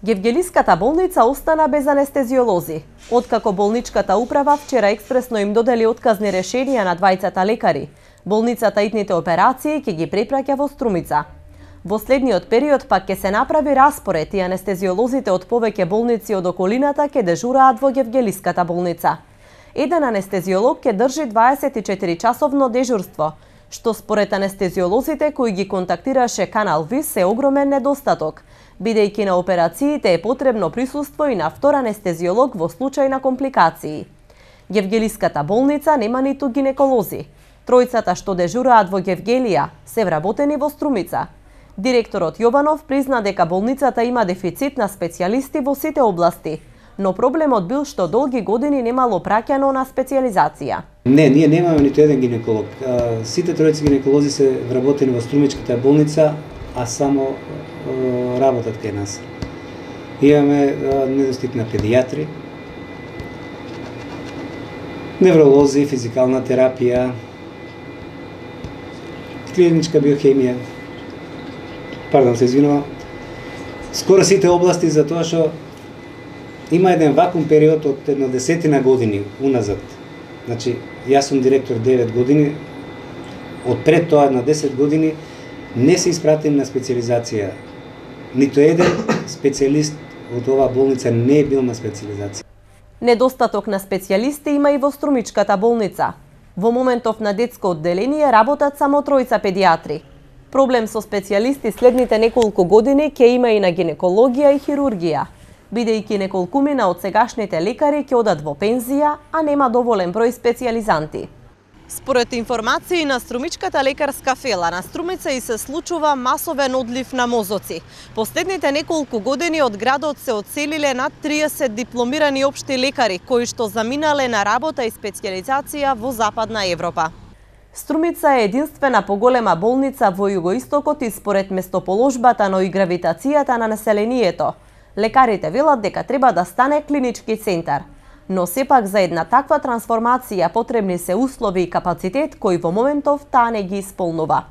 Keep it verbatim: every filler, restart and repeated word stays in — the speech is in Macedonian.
Гевгелиската болница остана без анестезиолози. Откако болничката управа вчера експресно им додели отказни решенија на двајцата лекари, болницата итните операции ќе ги препраќа во Струмица. Во следниот период пак ќе се направи распоред и анестезиолозите од повеќе болници од околината ќе дежураат во Гевгелиската болница. Еден анестезиолог ќе држи дваесет и четири часовно дежурство, што според анестезиолозите кои ги контактираше Канал Вис е огромен недостаток, бидејќи на операциите е потребно присуство и на втор анестезиолог во случај на компликации. Гевгелиската болница нема ниту гинеколози. Тројцата што дежураат во Гевгелија се вработени во Струмица. Директорот Јованов призна дека болницата има дефицит на специјалисти во сите области, но проблемот бил што долги години немало праќано на специјализација. Не, ние немаме ниту еден гинеколог. Сите тројци гинеколози се вработени во Струмичката болница, а само работат кај нас. Имаме недостиг на педијатри, невролози, физикална терапија, клиничка биохемија. Пардон, се извинувам. Скоро сите области, за тоа што има еден вакуум период од едно десетина години уназад. Значи, јас сум директор девет години, од пред тоа на десет години не се испратени на специализација. Ниту еден специјалист од оваа болница не е бил на специализација. Недостаток на специјалисти има и во Струмичката болница. Во моментов на детско одделение работат само тројца педијатри. Проблем со специјалисти следните неколку години ќе има и на гинекологија и хирургија, бидејќи неколкумина од сегашните лекари ќе одат во пензија, а нема доволен број специјализанти. Според информации на Струмичката лекарска фела, на Струмица и се случува масовен одлив на мозоци. Последните неколку години од градот се одселиле над триесет дипломирани општи лекари, кои што заминале на работа и специјализација во Западна Европа. Струмица е единствена поголема болница во југоистокот и според местоположбата, но и гравитацијата на населението. Лекарите велат дека треба да стане клинички центар. Но сепак за една таква трансформација потребни се услови и капацитет кои во моментов таа не ги исполнува.